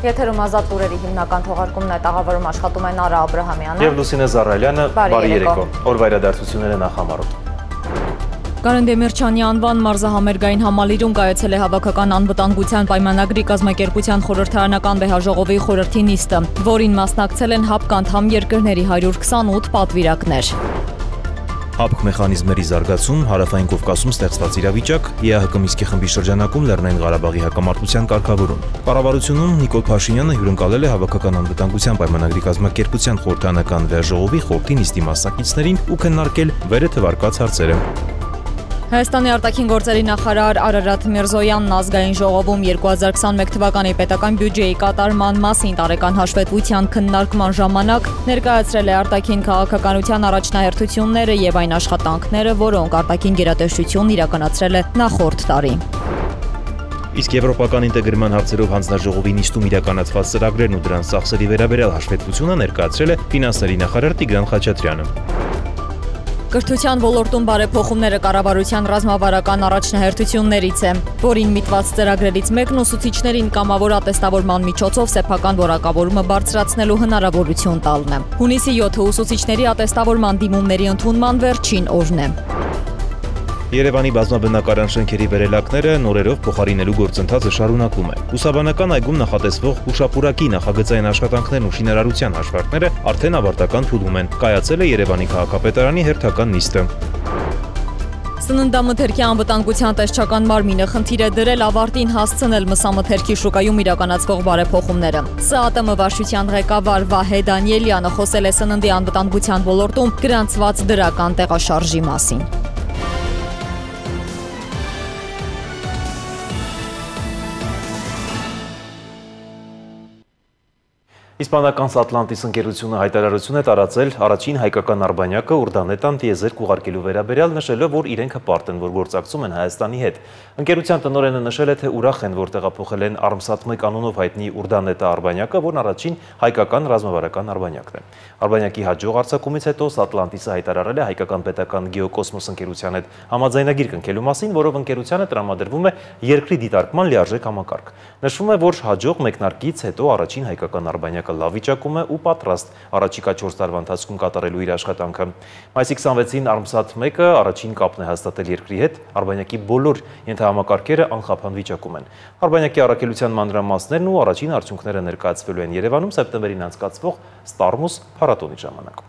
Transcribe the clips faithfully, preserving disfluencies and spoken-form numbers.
Եթերում ազատ լուրերի հիմնական թողարկումն է, տաղավարում աշխատում են Արա Աբրահամյանը և Լուսինե Զարայելյանը, բարի երեկո, օրվա իրադարձությունները նախամարում։ Կարեն Դեմիրճյանի անվան մարզահամերգային համալիրում կայացել է հավաքական անվտանգության պայմանագրի կազմակերպության խորհրդարանական վեհաժողովի խորհրդի նիստը, որին մասնակցել են ՀԱՊԿ անդամ երկրների հարյուր քսանութ պատվիրակներ։ ՀԱՊԿ մեխանիզմերի զարգացում, Հարավային Կովկասում ստեղծված իրավիճակ, ԵԱՀԿ Մինսկի խմբի շրջանակում Լեռնային Ղարաբաղի հակամարտության կարգավորում։ Կառավարությունում Նիկոլ Փաշինյանը հյուրընկալել է հավաքական անվտանգության պայմանագրի կազմակերպության խորհրդարանական վեհաժողովի խորհրդի նիստի մասնակիցներին ու քննարկել վերը թվարկած հարցերը։ Հայաստանի արտաքին գործերի նախարար Արարատ Միրզոյանն ազգային ժողովում երկու հազար քսանմեկ թվականի պետական բյուջեի կատարման մասին տարեկան հաշվետվության քննարկման ժամանակ ներկայացրել է արտաքին քաղաքականության առաջնահերթությունները եւ այն աշխատանքները, որոնք արտաքին գերատեսչությունն իրականացրել է նախորդ տարի։ Իսկ եվրոպական ինտեգրման հարցերով հանձնաժողովի նիստում իրականացված ծրագրերն ու դրանց ծախսերի վերաբերյալ հաշվետվությունը ներկայացրել է ֆինանսների նախարար Տիգրան Խաչատրյանը։ Կրթության ոլորտում բարեփոխումները կառավարության ռազմավարական առաջնահերթություններից է, որին միտված ծրագրերից մեկն ուսուցիչներին կամավոր ատեստավորման միջոցով սեփական որակավորումը բարձրացնելու հնարավորություն տալն է։ Հունիսի յոթը ուսուցիչների ատեստավորման դիմումների ընդունման վերջին օրն է։ Երևանի բազմաբնակարան շենքերի վերելակները նորերով փոխարինելու գործընթացը շարունակվում է։ Ուսաբանական այգում նախատեսվող հուշապուրակի նախագծային աշխատանքներն ու շինարարության հաշվարկները արդեն ավարտական փուլում են։ Կայացել է Երևանի քաղաքապետարանի հերթական նիստը։ Սննդամթերքի անվտանգության տեսչական մարմինը խնդիր է դրել ավարտին հասցնել մսամթերքի շուկայում իրականացվող բարեփոխումները։ ՍԱՏՄ վարչության ղեկավար Վահե Դանիելյանը խոսել է սննդի անվտանգության ոլորտում գրանցված դրական տեղաշարժի մասին։ Իսպանական Սատլանտիս ընկերությունը հայտարարություն է տարածել առաջին հայկական արբանյակը Ուրդանետան տիեզերք ուղարկելու վերաբերյալ, նշելով, որ իրենք հպարտ են, որ գործակցում են Հայաստանի հետ։ Ընկերության տնօրենը նշել է, թե ուրախ են, որ տեղափոխել են Արմսաթմեկ անունով հայտնի Ուրդանետա արբանյակը, որն առաջին հայկական ռազմավարական արբանյակն է։ Արբանյակի հաջող արձակումից հետո Սատլանտիսը հայտարարել է հայկական պետական գեոկոսմոս ընկերության հետ համաձայնագիր կնքելու մասին, որով ընկերությանը տրամադրվում է երկրի դիտարկման լիարժեք համակարգ։ Նշվում է, որ հաջող մեկնարկից հետո առաջին հայկական արբանյակը լավ վիճակում է ու պատրաստ առաջիկա չորս տարվա ընթացքում կատարելու իր աշխատանքը։ Մայիսի քսանվեցին Արմսաթմեկը առաջին կապն է հաստատել երկրի հետ, արբանյակի բոլոր ենթահամակարգերը անխափան վիճակում են։ Արբանյակի առաքելության մանրամասներն ու առաջին արդյունքները ներկայացվելու են Երևանում սեպտեմբերին անցկացվող Ստարմուս փառատոնի ժամանակ։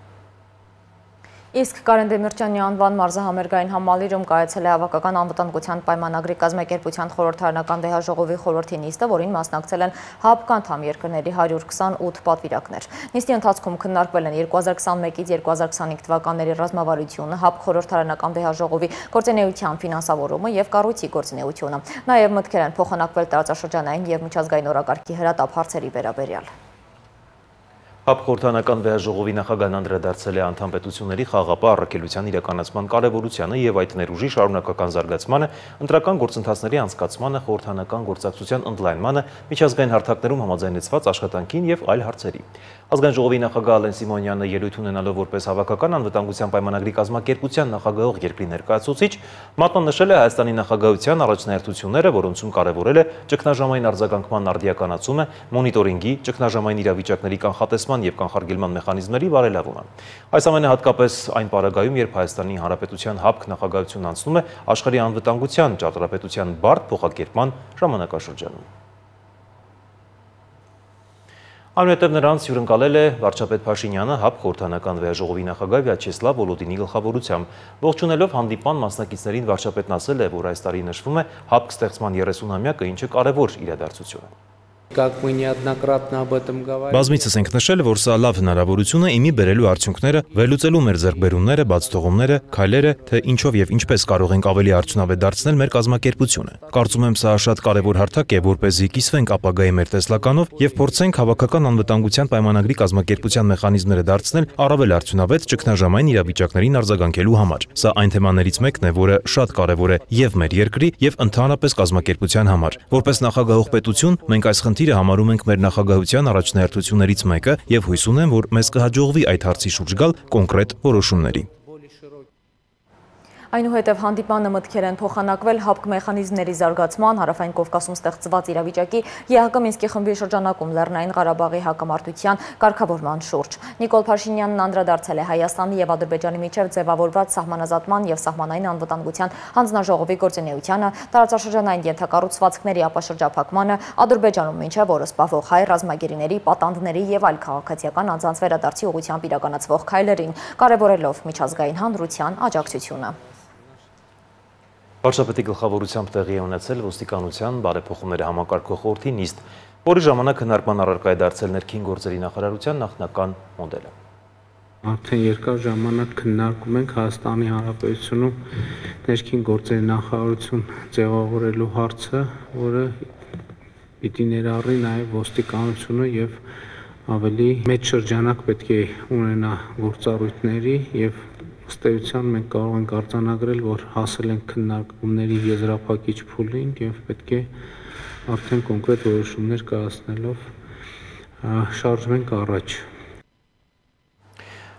Իսկ Կարեն Դեմիրճյանի անվան մարզահամերգային համալիրում կայացել է հավաքական անվտանգության պայմանագրի կազմակերպության խորհրդարանական վեհաժողովի խորհրդի նիստը, որին մասնակցել են ՀԱՊԿ անդամ երկրների հարյուր քսանութ պատվիրակներ։ Նիստի ընթացքում քննարկվել են երկու հազար քսանմեկից երկու հազար քսանհինգ թվականների ռազմավարությունը, ՀԱՊԿ խորհրդարանական վեհաժողովի գործունեության ֆինանսավորումը եւ կառույցի գործունեությունը։ Նաեւ մտքեր են փոխանակվել տարածաշրջանային եւ միջազգային օրակարգի հրատապ հարցերի վերաբերյալ։ ՀԱՊԿ խորհրդարանական վեհաժողովի նախագահն անդրադարձել է անդամ պետությունների խաղաղապահ առաքելության իրականացման կարևորությանը եւ այդ ներուժի շարունակական զարգացմանը, ընտրական գործընթացների անցկացմանը, խորհրդարանական գործակցության ընդլայնմանը, միջազգային հարթակներում համաձայնեցված աշխատանքին եւ այլ հարցերի։ Ազգային ժողովի նախագահ Ալեն Սիմոնյանը ելույթ ունենալով որպես հավաքական անվտանգության պայմանագրի կազմակերպության նախագահող երկրի ներկայացուցիչ, մատնանշել է Հայաստանի նախագահության առաջնահերթությունները, որոնցում կարևորել է ճգնաժամային արձագանքման արդիականացումը, մոնիտորինգի, ճգնաժամային իրավիճակների կանխատեսման եւ կանխարգելման մեխանիզմների բարելավումը։ Այս ամենը հատկապես այն պարագայում, երբ Հայաստանի Հանրապետության ՀԱՊԿ նախագահությունն անցնում է աշխարհի անվտանգության ճարտարապետության բարդ փոխակերպման ժամանակաշրջանում։ Այնուհետև նրանց հյուրընկալել է վարչապետ Փաշինյանը ՀԱՊԿ խորհրդարանական վեհաժողովի նախագահ Վյաչեսլավ Վոլոդինի գլխավորությամբ։ Ողջունելով հանդիպման մասնակիցներին վարչապետն ասել է, որ այս տարի նշվում է ՀԱՊԿ ստեղծման երեսունամյակը, ինչը կարևոր իրադարձություն է։ Բազմիցս ենք նշել, որ սա լավ հնարավորություն է իմի բերելու արդյունքները, վերլուծելու մեր ձեռքբերումները, բացթողումները, քայլերը, թե ինչով եւ ինչպես կարող ենք ավելի արդյունավետ դարձնել մեր կազմակերպությունը։ Կարծում եմ, սա շատ կարևոր հարթակ է, որպեսզի կիսվենք ապագայի մեր տեսլականով եւ փորձենք հավաքական անվտանգության պայմանագրի կազմակերպության մեխանիզմները դարձնել առավել արդյունավետ ճգնաժամային իրավիճակներին արձագանքելու համար։ Սա այն թեմաներից մեկն է, որը շատ կարևոր է եւ մեր երկրի եւ ընդհանրապես կազմակերպության համար։ Որպես նախագահող պետություն մենք այս խնդիրը համարում ենք մեր նախագահության առաջնահերթություններից մեկը եւ հույս ունեմ, որ մեզ կհաջողվի այդ հարցի շուրջ գալ կոնկրետ որոշումների։ Այնուհետև հանդիպանը մտքեր են փոխանակվել ՀԱՊԿ մեխանիզմների զարգացման, Հարավային Կովկասում ստեղծված իրավիճակի, ԵԱՀԿ Մինսկի խմբի շրջանակում Լեռնային Ղարաբաղի հակամարտության կարգավորման շուրջ։ Նիկոլ Փաշինյանն անդրադարձել է Հայաստանի եւ Ադրբեջանի միջև ձևավորված սահմանազատման եւ սահմանային անվտանգության հանձնաժողովի գործունեությանը, տարածաշրջանային ենթակառուցվածքների ապաշրջափակմանը, Ադրբեջանում մինչև օրս պահվող հայ ռազմագերիների, պատանդների եւ այլ քաղաքացիական անձանց վերադարձի ուղղությամբ իրականացվող քայլերին, կարևորելով միջազգային հանրության աջակցությունը։ Վարչապետի գլխավորությամբ տեղի է ունեցել ոստիկանության բարեփոխումների համակարգող խորհրդի նիստ, որի ժամանակ քննարկման առարկա է դարձել ներքին գործերի նախարարության նախնական մոդելը։ Արդեն երկար ժամանակ քննարկում ենք Հայաստանի Հանրապետությունում ներքին գործերի նախարարություն ձևավորելու հարցը, որը պիտի ներառի նաև ոստիկանությունը եւ ավելի մեծ շրջանակ պետք է ունենա գործառույթների եւ ըստ էության մենք կարող ենք արձանագրել, որ հասել ենք քննարկումների եզրափակիչ փուլին եւ պետք է արդեն կոնկրետ որոշումներ կայացնելով շարժվենք առաջ։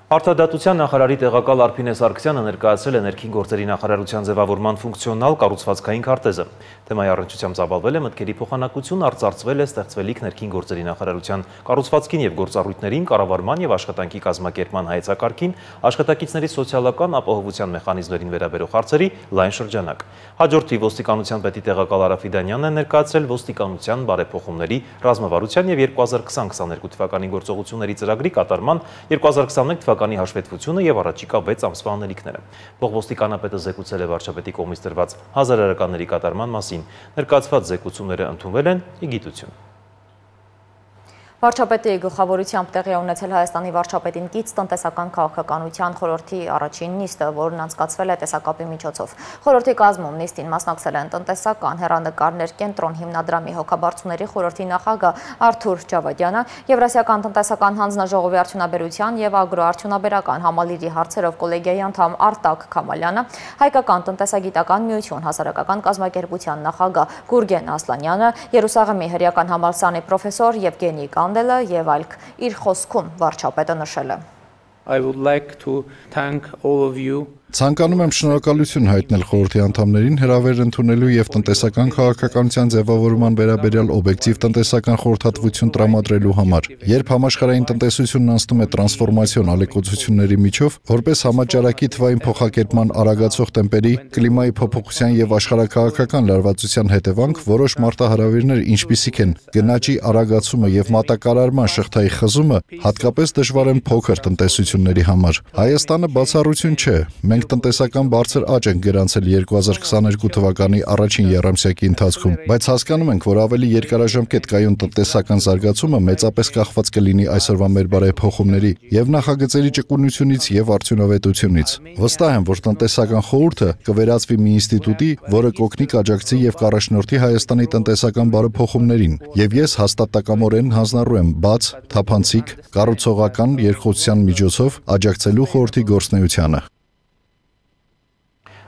Արդարադատության նախարարի տեղակալ Արփինե Սարգսյանը ներկայացրել է ներքին գործերի նախարարության ձևավորման ֆունկցիոնալ կառուցվածքային քարտեզը։ Թեմայի առնչությամբ ծավալվել է մտքերի փոխանակություն, արծարծվել է ստեղծվելիք ներքին գործերի նախարարության կառուցվածքին եւ գործառույթներին, կառավարման եւ աշխատանքի կազմակերպման հայեցակարգին, աշխատակիցների սոցիալական ապահովության մեխանիզմներին վերաբերող հարցերի լայն շրջանակ։ Հաջորդի ոստիկանության պետի տեղակալ Արա Ֆիդանյանն է ներկայացրել ոստիկանության բարեփոխումների, ռազմավարության եւ երկու հազար քսան քսաներկու թվականի գործողությունների ծրագրի կատարման երկու հազար քսաներկու թվականի հաշվետվությունը եւ առաջիկա վեց ամսվա անելիքները։ Փոխոստիկանապետը զեկուցել է վարչապետի կողմից տրված հազարարականների կատարման մասին։ Ներկայացված զեկուցումները ընդունվել են ի գիտություն։ Վարչապետի գլխավորությամբ տեղի է ունեցել Հայաստանի վարչապետին կից տնտեսական քաղաքականության խորհրդի առաջին նիստը, որն անցկացվել է տեսակապի միջոցով։ Խորհրդի կազմում նիստին մասնակցել են տնտեսական հեռանկարներ կենտրոն հիմնադրամի հոգաբարձուների խորհրդի նախագահ Արթուր Ջավադյանը, Եվրասիական տնտեսական հանձնաժողովի արդյունաբերության եւ ագրոարդյունաբերական համալիրի հարցերով կոլեգիայի անդամ Արտակ Քամալյանը, Հայկական տնտեսագիտական միություն հասարակական կազմակերպության նախագահ Գուրգեն Ասլանյանը, Երուսաղեմի հրեական համալսարանի պրոֆեսոր Եվգենի Կանդելը եւ այլք իր խոսքում վարչապետը նշել է. I would like to thank all of you. Ցանկանում եմ շնորհակալություն հայտնել խորհրդի անդամներին հրավեր ընդունելու եւ տնտեսական քաղաքականության ձևավորման վերաբերյալ օբյեկտիվ տնտեսական խորհրդատվություն տրամադրելու համար։ Երբ համաշխարհային տնտեսությունն անցնում է տրանսֆորմացիոն ալեկոծությունների միջով, որպես համաճարակի թվային փոխակերպման արագացող տեմպերի, կլիմայի փոփոխության եւ աշխարհաքաղաքական լարվածության հետևանք, որոշ մարտահրավերներ, ինչպիսիք են գնաճի արագացումը եւ մատակարարման շղթայի խզումը, հատկապես դժվար են փոքր տնտեսությունների համար։ Հայաստանը բացառություն չէ։ Մենք տնտեսական բարձր աճ ենք գրանցել երկու հազար քսաներկու թվականի առաջին եռամսյակի ընթացքում, բայց հասկանում ենք, որ ավելի երկարաժամկետ կայուն տնտեսական զարգացումը մեծապես կախված կլինի այսօրվա մեր բարեփոխումների եւ նախագծերի ճկունությունից եւ արդյունավետությունից։ Վստահ եմ, որ տնտեսական խորհուրդը կվերածվի մի ինստիտուտի, որը կօգնի կաջակցի եւ կառաջնորդի Հայաստանի տնտեսական բարեփոխումներին, եւ ես հաստատակամորեն հանձնառու եմ բաց, թափանցիկ, կառուցողական երկխոսության միջոցով աջակցելու խորհրդի գործունեությանը։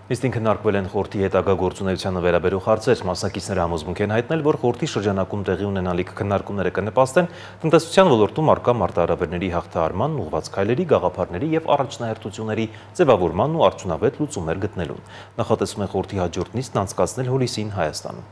Նիստին քննարկվել են խորհրդի հետագա գործունեությանը վերաբերող հարցեր, մասնակիցները համոզմունք են հայտնել, որ խորհրդի շրջանակում տեղի ունենալիք քննարկումները կնպաստեն տնտեսության ոլորտում առկա մարտահրավերների հաղթահարման, ուղղված քայլերի, գաղափարների եւ առաջնահերթությունների ձևավորման ու արդյունավետ լուծումներ գտնելուն։ Նախատեսվում է խորհրդի հաջորդ նիստն անցկացնել հուլիսին Հայաստանում։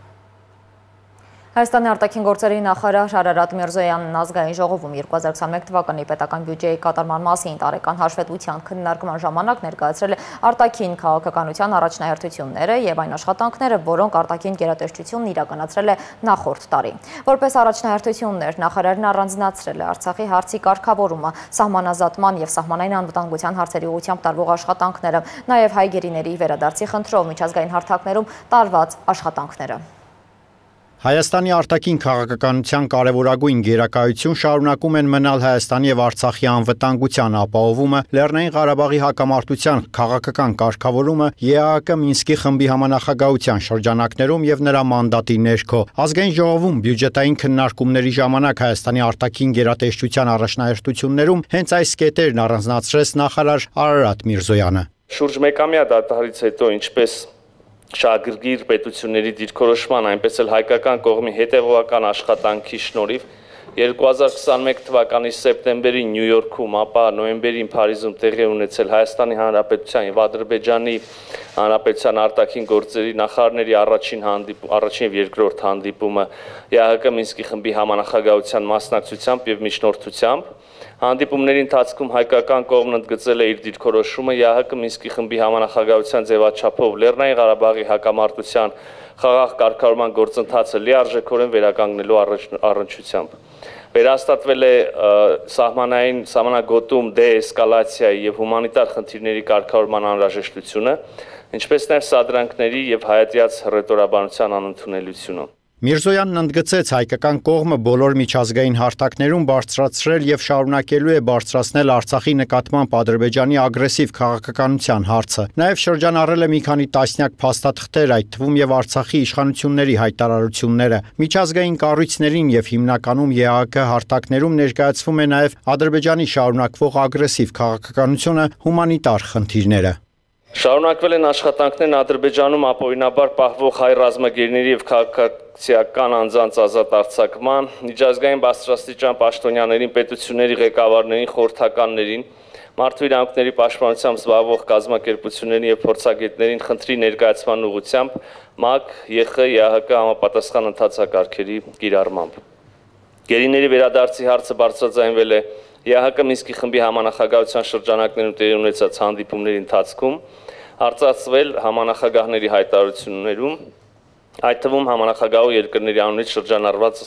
Հայաստանի արտաքին գործերի նախարար Արարատ Միրզոյանն ազգային ժողովում երկու հազար քսաներկու թվականի պետական բյուջեի կատարման մասին տարեկան հաշվետվության քննարկման ժամանակ ներկայացրել է արտաքին քաղաքականության առաջնահերթությունները եւ այն աշխատանքները, որոնք արտաքին գերատեսչությունն իրականացրել է նախորդ տարի։ Որպես առաջնահերթություններ նախարարն առանձնացրել է Արցախի հարցի կարգավորումը, սահմանազատման եւ սահմանային անվտանգության հարցերի ուղղությամբ տարվող աշխատանքները, նաեւ հայ գերիների վերադարձի խնդրով միջազգային հարթակներում տարված աշխատանքները։ Հայաստանի արտաքին քաղաքականության կարևորագույն գերակայություն շարունակում են մնալ Հայաստանի եւ Արցախի անվտանգության ապահովումը, Լեռնային Ղարաբաղի հակամարտության քաղաքական կարգավորումը, ԵԱՀԿ Մինսկի խմբի համանախագահության շրջանակներում եւ նրա մանդատի ներքո։ Ազգային ժողովում բյուջետային քննարկումների ժամանակ Հայաստանի արտաքին գերատեսչության առաջնահերթություններում հենց այս կետերն առանձնացրեց նախարար Արարատ Միրզոյանը։ Շուրջ մեկամյա դադարից հետո ինչպես շահագրգիռ պետությունների դիրքորոշման, այնպես էլ հայկական կողմի հետևողական աշխատանքի շնորհիվ երկու հազար քսանմեկ թվականի սեպտեմբերին Նյու Յորքում, ապա նոյեմբերին Փարիզում տեղի ունեցել Հայաստանի Հանրապետության եւ Ադրբեջանի Հանրապետության արտաքին գործերի նախարարների առաջին հանդիպում, առաջին եւ երկրորդ հանդիպումը ԵԱՀԿ Մինսկի խմբի համանախագահության մասնակցությամբ եւ միջնորդությամբ Հանդիպումների ընթացքում հայկական կողմն ընդգծել է իր դիրքորոշումը ԵԱՀԿ Մինսկի խմբի համանախագահության ձևաչափով Լեռնային Ղարաբաղի հակամարտության խաղաղ կարգավորման գործընթացը լիարժեքորեն վերականգնելու առնչությամբ։ Վերահաստատվել է սահմանային սահմանագոտում դեէսկալացիայի եւ հումանիտար խնդիրների կարգավորման անհրաժեշտությունը, ինչպես նաեւ սադրանքների եւ հայատյաց հռետորաբանության անընդունելությունը։ Միրզոյանն ընդգծեց հայկական կողմը բոլոր միջազգային հարթակներում բարձրացրել եւ շարունակելու է բարձրացնել Արցախի նկատմամբ Ադրբեջանի ագրեսիվ քաղաքականության հարցը։ Նաեւ շրջանառել է մի քանի տասնյակ փաստաթղթեր, այդ թվում եւ Արցախի իշխանությունների հայտարարությունները։ Միջազգային կառույցներին եւ հիմնականում ԵԱՀԿ հարթակներում ներկայացվում է նաեւ Ադրբեջանի շարունակվող ագրեսիվ քաղաքականությունը, հումանիտար խնդիրները։ Շարունակվել են աշխատանքներն Ադրբեջանում ապօրինաբար պահվող հայ ռազմագերիների եւ քաղաքացիական անձանց ազատ արձակման, միջազգային բարձրաստիճան պաշտոնյաներին, պետությունների ղեկավարներին, խորհրդականներին, մարդու իրավունքների պաշտպանությամբ զբաղվող կազմակերպություններին եւ փորձագետներին խնդրի ներկայացման ուղղությամբ ՄԱԿ, ԵԽ, ԵԱՀԿ համապատասխան ընթացակարգերի կիրառմամբ։ Գերիների վերադարձի հարցը բարձրաձայնվել է ԵԱՀԿ Մինսկի խմբի համանախագահության շրջանակներում տեղի ունեցած հանդիպումների ընթացքում, արծարծվել համանախագահների հայտարարություններում, այդ թվում համանախագահու երկրների անունից շրջանառված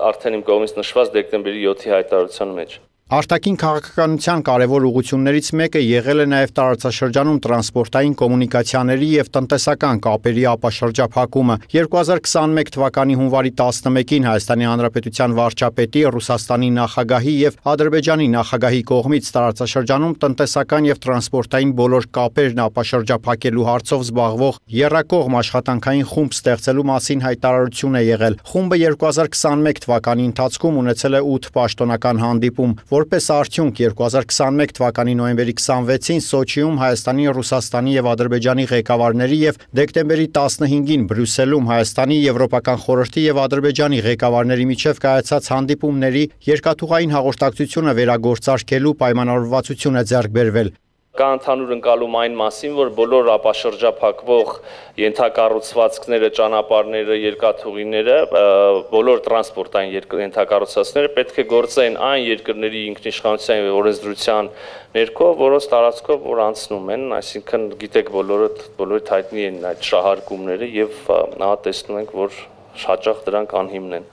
արդեն իմ կողմից նշված դեկտեմբերի յոթի հայտարարության մեջ։ Արտաքին քաղաքականության կարևոր ուղղություններից մեկը եղել է նաև տարածաշրջանում տրանսպորտային կոմունիկացիաների եւ տնտեսական կապերի ապաշրջափակումը։ երկու հազար քսանմեկ թվականի հունվարի տասնմեկին Հայաստանի Հանրապետության վարչապետի, Ռուսաստանի նախագահի եւ Ադրբեջանի նախագահի կողմից տարածաշրջանում տնտեսական եւ տրանսպորտային բոլոր կապերն ապաշրջափակելու հարցով զբաղվող եռակողմ աշխատանքային խումբ ստեղծելու մասին հայտարարություն է եղել։ Խումբը երկու հազար քսանմեկ թվականի ընթացքում ունեցել է ութ պաշտոնական հանդիպում։ Որպես արդյունք երկու հազար քսանմեկ թվականի նոյեմբերի քսանվեցին Սոչիում Հայաստանի, Ռուսաստանի եւ Ադրբեջանի ղեկավարների եւ դեկտեմբերի տասնհինգին Բրյուսելում Հայաստանի, Եվրոպական խորհրդի եւ Ադրբեջանի ղեկավարների միջև կայացած հանդիպումների երկաթուղային հաղորդակցությունը վերագործարկելու պայմանավորվածություն է ձեռք բերվել։ Կա ընդհանուր ընկալում այն մասին, որ բոլոր ապաշրջափակվող ենթակառուցվածքները, ճանապարհները, երկաթուղիները, բոլոր տրանսպորտային ենթակառուցվածքները պետք է գործեն այն երկրների ինքնիշխանության եւ օրենսդրության ներքո, որոնց տարածքով որ անցնում են, այսինքն գիտեք բոլորը բոլորիդ հայտնի են այդ շահարկումները եւ ահա տեսնում ենք, որ հաճախ դրանք անհիմն են։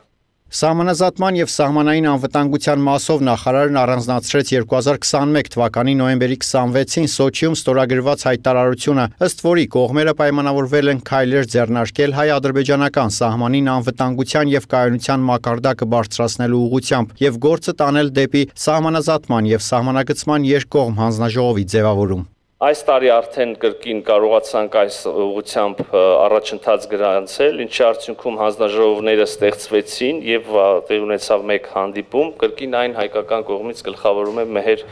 Սահմանազատման եւ սահմանային անվտանգության մասով նախարարն առանձնացրեց երկու հազար քսանմեկ թվականի նոյեմբերի քսանվեցին Սոչիում ստորագրված հայտարարությունը, ըստ որի կողմերը պայմանավորվել են քայլեր ձեռնարկել հայ-ադրբեջանական սահմանին անվտանգության եւ կայունության մակարդակը բարձրացնելու ուղղությամբ եւ գործը տանել դեպի սահմանազատման եւ սահմանագծման երկկողմ հանձնաժողովի ձևավորում։ Այս տարի արդեն կրկին կարողացանք այս ուղղությամբ առաջընթաց գրանցել, ինչի արդյունքում հանձնաժողովները ստեղծվեցին եւ տեղի ունեցավ մեկ հանդիպում, կրկին այն հայկական կողմից գլխավորում է Մեհեր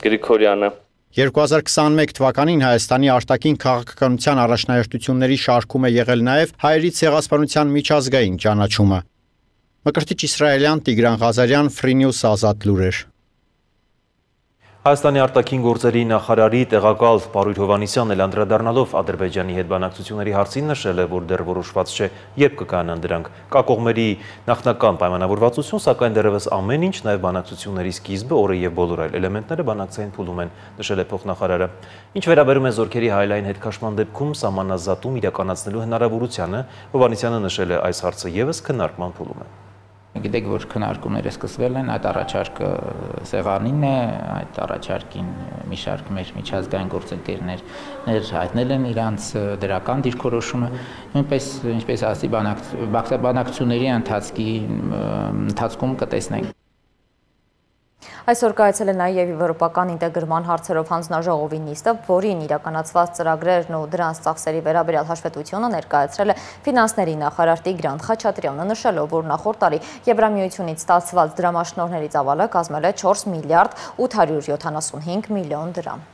Գրիգորյանը։ երկու հազար քսանմեկ թվականին Հայաստանի արտաքին քաղաքականության առաջնահերթությունների շարքում է եղել նաեւ հայերի ցեղասպանության միջազգային ճանաչումը։ Մկրտիչ Իսրայելյան, Տիգրան Ղազարյան, Free News Ազատ լուրեր։ Հայաստանի արտաքին գործերի նախարարի տեղակալ Պարույր Հովհաննիսյանն էլ անդրադառնալով Ադրբեջանի հետ բանակցությունների հարցին նշել է, որ դեռ որոշված չէ, երբ կկայանան դրանք։ Կա կողմերի նախնական պայմանավորվածություն, սակայն դեռևս ամեն ինչ, նաև բանակցությունների սկիզբը, օրը եւ բոլոր այլ էլեմենտները բանակցային փուլում են, նշել է փոխնախարարը։ Ինչ վերաբերում է զորքերի հայլային հետքաշման դեպքում սահմանազատում իրականացնելու հնարավորությանը, Հովհաննիսյանը նշել է այս հարցը եւս քննարկման փուլում է։ Գիտեք, որ քննարկումները սկսվել են, այդ առաջարկը սեղանին է, այդ առաջարկին մի շարք մեր միջազգային գործընկերներ հայտնել են իրանց դրական դիրքորոշումը, նույնպես ինչպես ասի բանակցությունների ընթացքի ընթացքում կտեսնենք։ Այսօր կայացել է նաև եվրոպական ինտեգրման հարցերով հանձնաժողովի նիստը, որին իրականացված ծրագրերն ու դրանց ծախսերի վերաբերյալ հաշվետվությունը ներկայացրել է ֆինանսների նախարար Տիգրան Խաչատրյանը, նշելով, որ նախորդ տարի Եվրամիությունից ստացված դրամաշնորհների ծավալը կազմել է չորս միլիարդ ութ հարյուր յոթանասունհինգ միլիոն դրամ։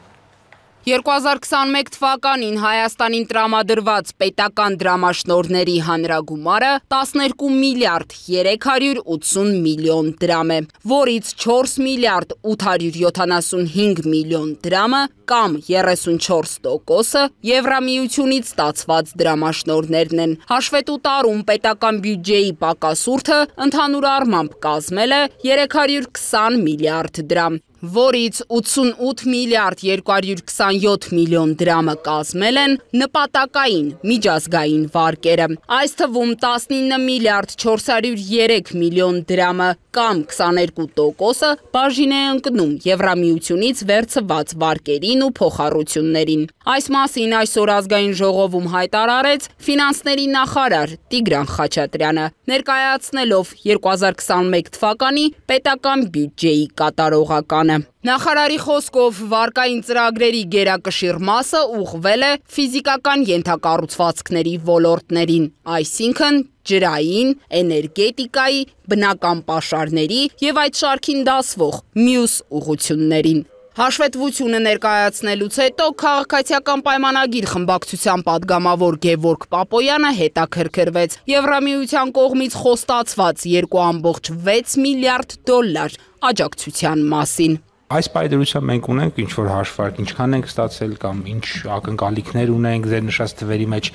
երկու հազար քսաներկու թվականին Հայաստանին տրամադրված պետական դրամաշնորհների հանրագումարը տասներկու միլիարդ երեք հարյուր ութսուն միլիոն դրամ է, որից չորս միլիարդ ութ հարյուր յոթանասունհինգ միլիոն դրամը կամ երեսունչորս տոկոսը Եվրամիությունից ստացված դրամաշնորհներն են։ Հաշվետու տարում պետական բյուջեի պակասուրդը ընդհանուր առմամբ կազմել է երեք հարյուր քսան միլիարդ դրամ, որից ութսունութ միլիարդ երկու հարյուր քսանյոթ միլիոն դրամը կազմել են նպատակային միջազգային վարկերը։ Այս թվում տասնինը միլիարդ չորս հարյուր երեք միլիոն դրամը կամ քսաներկու տոկոսը բաժին է ընկնում Եվրամիությունից վերցված վարկերին ու փոխառություններին։ Այս մասին այսօր ազգային ժողովում հայտարարեց ֆինանսների նախարար Տիգրան Խաչատրյանը, ներկայացնելով երկու հազար քսաներկու թվականի պետական բյուջեի կատարողականը։ Նախարարի խոսքով վարկային ծրագրերի գերակշիռ մասը ուղղվել է ֆիզիկական ենթակառուցվածքների ոլորտներին, այսինքն ջրային, էներգետիկայի, բնական պաշարների եւ այդ շարքին դասվող մյուս ուղղություններին։ Հաշվետվությունը ներկայացնելուց հետո քաղաքացիական պայմանագիր խմբակցության падգամավոր Գևորգ Պապոյանը հետաքրքրվեց Եվրամիության կողմից խոստացված երկու կόμկոմ վեց միլիարդ դոլար աջակցության մասին։ Այս պայմանությամբ մենք ունենք ինչ-որ հաշվարկ, ինչքան ենք ստացել կամ ինչ ակնկալիքներ ունենք ձեր նշած թվերի մեջ,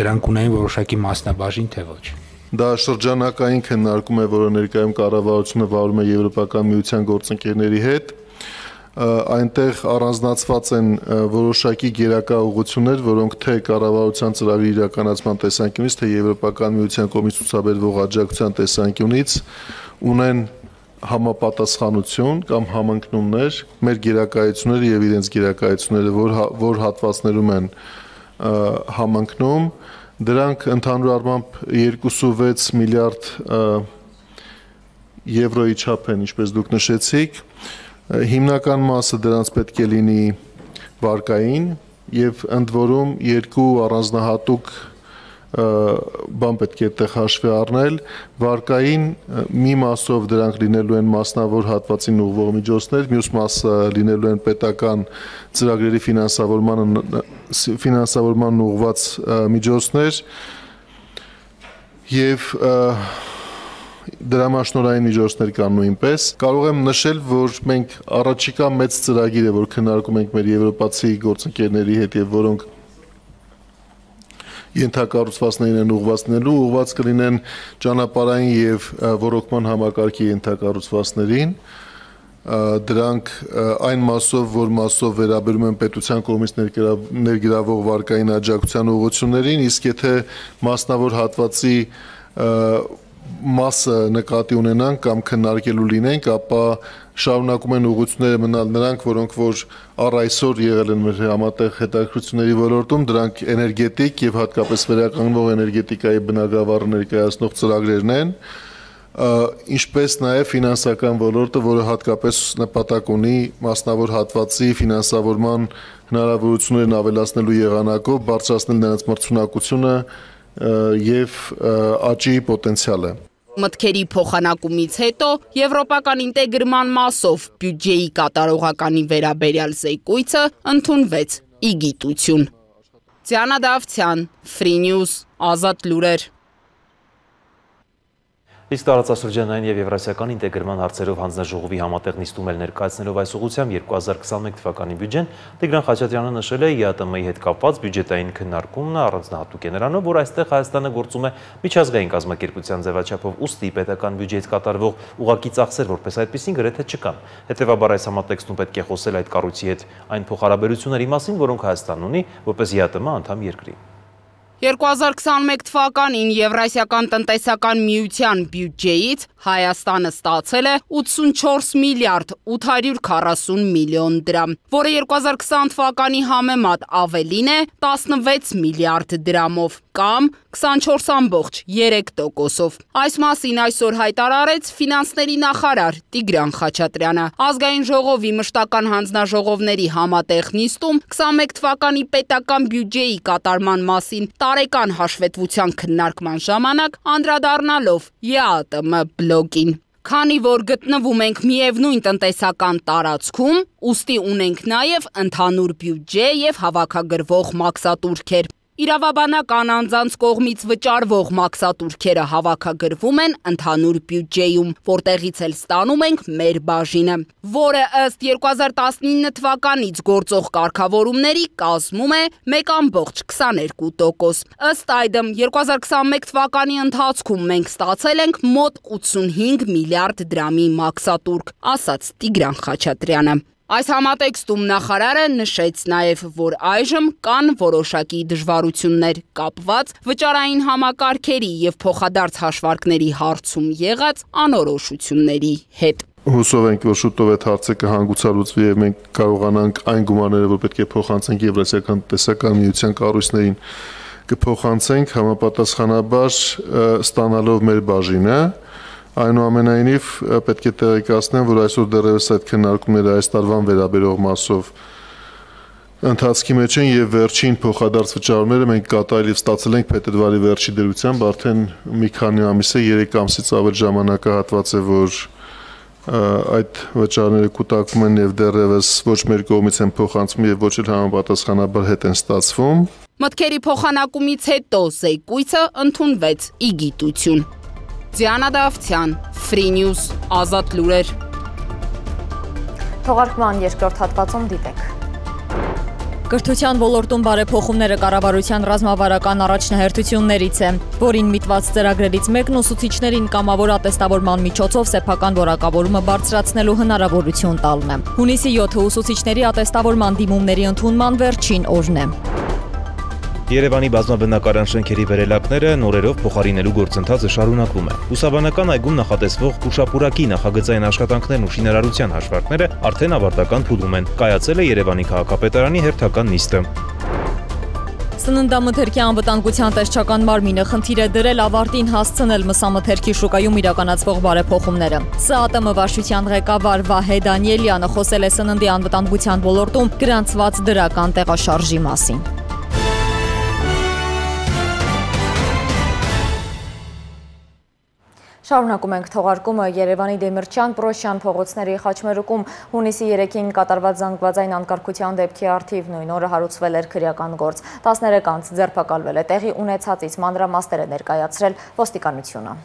դրանք ունեն որոշակի մասնաբաժին, թե ոչ։ Դա շրջանակային քննարկում է, որը ներկայում կառավարությունը վարում է Եվրոպական միության գործընկերների հետ։ Այնտեղ առանձնացված են որոշակի գերակա ուղղություններ, որոնք թե կառավարության ծրագրի իրականացման տեսանկյունից, թե Եվրոպական միության կողմից ցուցաբերվող աջակցության տեսանկյունից ունեն համապատասխանություն կամ համընկնումներ մեր գերակայությունները եւ իրենց գերակայությունները, որ որ հատվածներում են համընկնում, դրանք ընդհանուր առմամբ երկուսուվեց միլիարդ եվրոյի չափ են, ինչպես դուք նշեցիք, հիմնական մասը դրանց պետք է լինի վարկային եւ ընդ որում երկու առանձնահատուկ բան պետք է այդտեղ հաշվի առնել, վարկային մի մասով դրանք լինելու են մասնավոր հատվածին ուղղվող միջոցներ, մյուս մասը լինելու են պետական ծրագրերի ֆինանսավորման ֆինանսավորման ուղղված միջոցներ եւ դրամաշնորհային միջոցներ կան նույնպես։ Կարող եմ նշել, որ մենք առաջիկա մեծ ծրագիր է, որ քննարկում ենք մեր եվրոպացի գործընկերների հետ եւ որոնք ենթակառուցվածքներին են ուղղվածնելու, ուղղված կլինեն ճանապարհային եւ ռոռոկման համակարգի ենթակառուցվածքներին, դրանք այն մասով, որ մասով վերաբերում են պետության կողմից ներգրավող վարկային աջակցության ուղղություններին, իսկ եթե մասնավոր հատվածի մասը նկատի ունենանք կամ քննարկելու լինենք, ապա շարունակում են ուղղությունները մնալ նրանք, որոնք որ առ այսօր եղել են մեր համատեղ հետաքրքրությունների ոլորտում, դրանք էներգետիկ եւ հատկապես վերականգնվող էներգետիկայի բնագավառը ներկայացնող ծրագրերն են, ինչպես նաեւ ֆինանսական ոլորտը, որը հատկապես նպատակ ունի մասնավոր հատվածի ֆինանսավորման հնարավորություններն ավելացնելու եղանակով բարձրացնել նրանց մրցունակությունը եւ աճի պոտենցիալը։ Մտքերի փոխանակումից հետո եվրոպական ինտեգրման մասով բյուջեի կատարողականի վերաբերյալ զեկույցը ընդունվեց ի գիտություն։ Դիանա Դավթյան, Free News, Ազատ լուրեր։ Իսկ տարածաշրջանային եւ եվրասիական ինտեգրման հարցերով հանձնաժողովի համատեղ նիստում էլ ներկայացնելով այս ուղղությամբ երկու հազար քսաներկու թվականի բյուջեն, Տիգրան Խաչատրյանը նշել է ԵԱՏՄ-ի հետ կապված բյուջետային քննարկումն առանձնահատուկ է նրանով, որ այստեղ Հայաստանը գործում է միջազգային կազմակերպության ձևաչափով, ուստի պետական բյուջեից կատարվող ուղղակի ծախսեր որպես այդպիսին գրեթե չկան։ Հետևաբար այս համատեքստում պետք է խոսել այդ կառույցի հետ այն փոխհարաբերությունների մասին, որոնք Հայաստանն ունի որպես ԵԱՏՄ անդամ երկրի։ երկու հազար քսաներկու թվականին Եվրասիական տնտեսական միության բյուջեից Հայաստանը ստացել է ութսունչորս միլիարդ ութ հարյուր քառասուն միլիոն դրամ, որը երկու հազար քսան թվականի համեմատ ավելին է տասնվեց միլիարդ դրամով կամ քսանչորս կόμկոմ երեք տոկոսով։ Այս մասին այսօր հայտարարեց ֆինանսների նախարար Տիգրան Խաչատրյանը։ Ազգային ժողովի մշտական հանձնաժողովների համատեղ նիստում քսաներկու թվականի պետական բյուջեի կատարման մասին տարեկան հաշվետվության քննարկման ժամանակ անդրադառնալով ԵԱՏՄ բլոկին։ Քանի որ գտնվում ենք միևնույն տնտեսական տարածքում, ուստի ունենք նաև ընդհանուր բյուջե եւ հավաքագրվող մաքսատուրքեր։ Իրավաբանական անձանց կողմից վճարվող մաքսատուրքերը հավաքագրվում են ընդհանուր բյուջեում, որտեղից էլ ստանում ենք մեր բաժինը, որը ըստ երկու հազար տասնինը թվականից գործող կարգավորումների կազմում է մեկ ամբողջ քսաներկու տոկոս։ Ըստ այդմ երկու հազար քսանմեկ թվականի ընթացքում մենք ստացել ենք մոտ ութսունհինգ միլիարդ դրամի մաքսատուրք, ասաց Տիգրան Խաչատրյանը։ Այս համատեքստում նախարարը նշեց նաև, որ այժմ կան որոշակի դժվարություններ կապված վճարային համակարգերի եւ փոխադարձ հաշվարկների հարցում եղած անորոշությունների հետ։ Հուսով ենք, որ շուտով այդ հարցը կհանգուցալուծվի եւ մենք կարողանանք այն գումարները, որ պետք է փոխանցենք Եվրասիական տնտեսական միության կառույցներին, կփոխանցենք համապատասխանաբար ստանալով մեր բաժինը։ Այնուամենայնիվ պետք է տեղեկացնեմ, որ այսօր դեռևս այդ քննարկումները այս տարվան վերաբերող մասով ընթացքի մեջ են եւ վերջին փոխադարձ վճարումները մենք կատարել եւ ստացել ենք փետրվարի վերջի դրությամբ, արդեն մի քանի ամիս է, երեք ամսից ավել ժամանակահատված է, որ այդ վճարները կուտակվում են եւ դեռևս ոչ մեր կողմից են փոխանցվում եւ ոչ էլ համապատասխանաբար հետ են ստացվում։ Մտքերի փոխանակումից հետո զեկույցը ընդունվեց ի գիտություն։ Դիանա Դավթյան, Free News, Ազատ լուրեր։ Թողարկման երկրորդ հատվածում դիտեք։ Կրթության ոլորտում բարեփոխումները կառավարության ռազմավարական առաջնահերթություններից է, որին միտված ծրագրերից մեկն ուսուցիչներին կամավոր ատեստավորման միջոցով սեփական որակավորումը բարձրացնելու հնարավորություն տալն է։ Հունիսի յոթը ուսուցիչների ատեստավորման դիմումների ընդունման վերջին օրն է։ Երևանի բազմաբնակարան շենքերի վերելակները նորերով փոխարինելու գործընթացը շարունակվում է։ Ուսաբանական այգում նախատեսվող ուշապուրակի նախագծային աշխատանքներն ու շինարարության հաշվարկները արդեն ավարտական փուլում են։ Կայացել է Երևանի քաղաքապետարանի հերթական նիստը։ Սննդամթերքի անվտանգության տեսչական մարմինը խնդիր է դրել ավարտին հասցնել մսամթերքի շուկայում իրականացվող բարեփոխումները։ ՍԱՏՄ վարչության ղեկավար Վահե Դանիելյանը խոսել է սննդի անվտանգության ոլորտում գրանցված դրական տեղաշարժի մասին։ Շարունակում ենք թողարկումը Երևանի Դեմիրճյան Պրոշյան փողոցների խաչմերուկում հունիսի երեքին կատարված զանգվածային անկարգության դեպքի առթիվ նույն օրը հարուցվել էր քրեական գործ։ տասներեք անձ ձերբակալվել է, տեղի ունեցածից մանրամասներ է ներկայացրել ոստիկանությունը։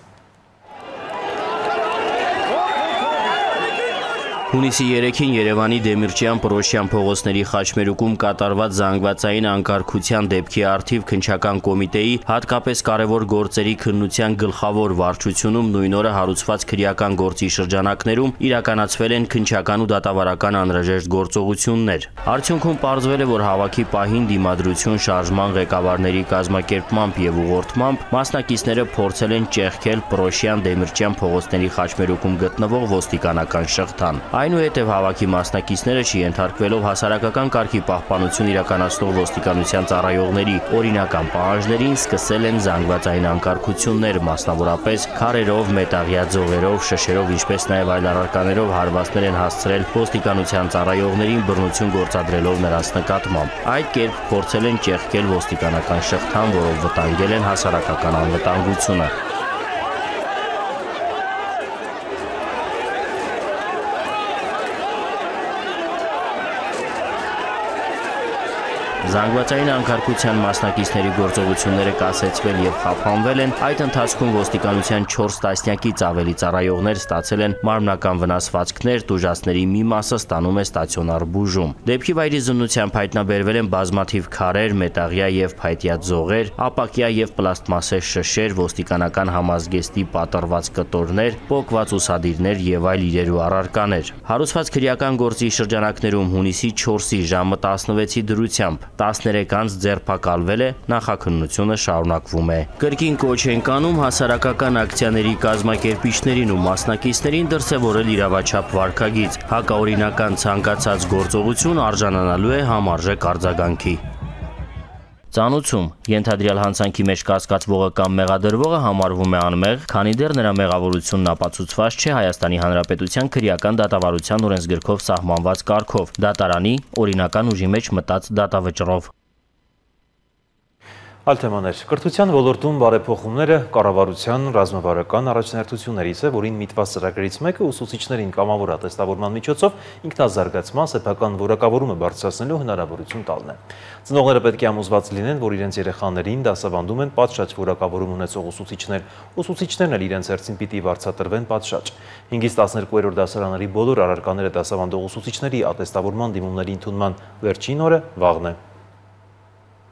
Հունիսի երեքին Երևանի Դեմիրճյան Պրոշյան փողոցների խաչմերուկում կատարված զանգվածային անկարգության դեպքի առթիվ քննչական կոմիտեի հատկապես կարևոր գործերի քննության գլխավոր վարչությունում նույն օրը հարուցված քրեական գործի շրջանակներում իրականացվել են քննչական ու դատավարական անհրաժեշտ գործողություններ։ Արդյունքում պարզվել է, որ հավաքի պահին դիմադրություն շարժման ղեկավարների կազմակերպմամբ եւ ուղղորդմամբ մասնակիցները փորձել են ճեղքել Պրոշյան Դեմիրճյան փողոցների խաչմերուկում գտնվող ոստիկանական շղթան։ Այնուհետև հավաքի մասնակիցները չենթարկվելով հասարակական կարգի պահպանություն իրականացնող ոստիկանության ծառայողների օրինական պահանջներին սկսել են զանգվածային անկարգություններ, մասնավորապես քարերով, մետաղյա ձողերով, շշերով, ինչպես նաև այլ առարկաներով հարվածներ են հասցրել ոստիկանության ծառայողներին բռնություն գործադրելով նրանց նկատմամբ։ Այդ կերպ փորձել են ճեղքել ոստիկանական շղթան, որով վտանգել են հասարակական անվտանգությունը։ Զանգվածային անկարգության մասնակիցների գործողությունները կասեցվել եւ խափանվել են, այդ ընթացքում ոստիկանության չորս տասնյակից ավելի ծառայողներ ստացել են մարմնական վնասվածքներ, տուժածների մի մասը ստանում է ստացիոնար բուժում։ Դեպքի վայրի զննությամբ հայտնաբերվել են բազմաթիվ քարեր, մետաղյա եւ փայտյա ձողեր, ապակյա եւ պլաստմասե շշեր, ոստիկանական համազգեստի պատռված կտորներ, պոկված ուսադիրներ եւ այլ իրեր ու առարկաներ։ Հարուցված քրեական գործի շրջանակներում հունիսի չորսի ժամը տասնվեցի դրությամբ տասներեք անձ ձերբակալվել է, նախաքննությունը շարունակվում է։ Կրկին կոչ են կանում հասարակական ակցիաների կազմակերպիչներին ու մասնակիցներին դրսևորել իրավաչափ վարքագիծ, հակաօրինական ցանկացած գործողություն արժանանալու է համարժեք արձագանքի։ Ծանուցում ենթադրյալ հանցանքի մեջ կասկածվողը կամ մեղադրվողը համարվում է անմեղ, քանի դեռ նրա մեղավորությունն ապացուցված չէ Հայաստանի Հանրապետության քրեական դատավարության օրենսգրքով սահմանված կարգով, դատարանի օրինական ուժի մեջ մտած դատավճռով։ Այլ թեմաներ. Կրթության ոլորտում բարեփոխումները կառավարության ռազմավարական առաջնահերթություններից է, որին միտված ծրագրերից մեկը ուսուցիչներին կամավոր ատեստավորման միջոցով ինքնազարգացման սեփական որակավորումը բարձրացնելու հնարավորություն տալն է։ Ծնողները պետք է համոզված լինեն, որ իրենց երեխաներին դասավանդում են պատշաճ որակավորում ունեցող ուսուցիչներ, ուսուցիչներն էլ իրենց հերթին պիտի վարձատրվեն պատշաճ։ հինգից տասներկուերորդ դասարանների բոլոր առարկաները դասավանդող ուսուցիչների ատեստավորման դիմումների ընդունման վերջին օրը վաղն է։